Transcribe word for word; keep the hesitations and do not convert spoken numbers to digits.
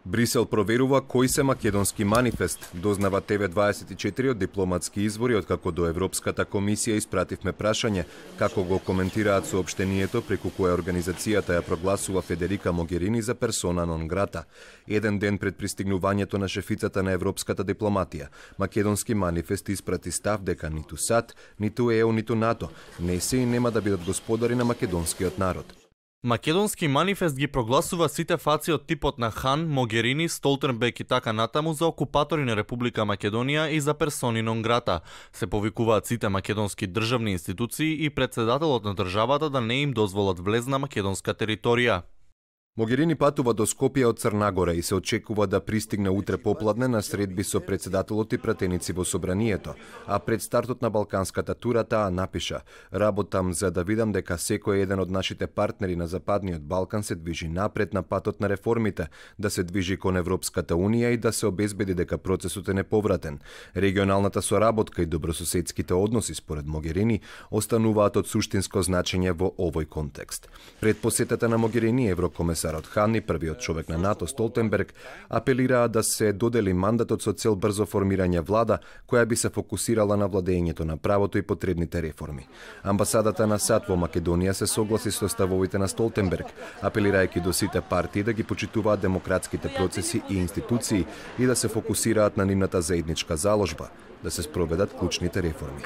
Брисел проверува кој се македонски манифест, дознава Т В дваесет и четири од дипломатски извори, откако до Европската комисија испративме прашање како го коментираат соопштението преку кое организацијата ја прогласува Федерика Могерини за персона нон грата. Еден ден пред пристигнувањето на шефицата на европската дипломатија, македонски манифест испрати став дека ниту САД, ниту Е У, ниту НАТО не се и нема да бидат господари на македонскиот народ. Македонски манифест ги прогласува сите фаци од типот на Хан, Могерини, Столтенберг и така натаму за окупатори на Република Македонија и за персони нон грата. Се повикуваат сите македонски државни институции и председателот на државата да не им дозволат влез на македонска територија. Могерини патува до Скопје од Црна Гора и се очекува да пристигне утре попладне на средби со председателот и пратеници во собранието, а пред стартот на балканската тура таа напиша: "Работам за да видам дека секој еден од нашите партнери на Западниот Балкан се движи напред на патот на реформите, да се движи кон Европската унија и да се обезбеди дека процесот е неповратен. Регионалната соработка и добрососедските односи според Могерини остануваат од суштинско значење во овој контекст." Пред посетата на Могерини, еврокомесар од Хан и првиот човек на НАТО Столтенберг апелираа да се додели мандатот со цел брзо формирање влада која би се фокусирала на владењето на правото и потребните реформи. Амбасадата на САД во Македонија се согласи со ставовите на Столтенберг, апелирајќи до сите партии да ги почитуваат демократските процеси и институции и да се фокусираат на нивната заедничка заложба, да се спроведат клучните реформи.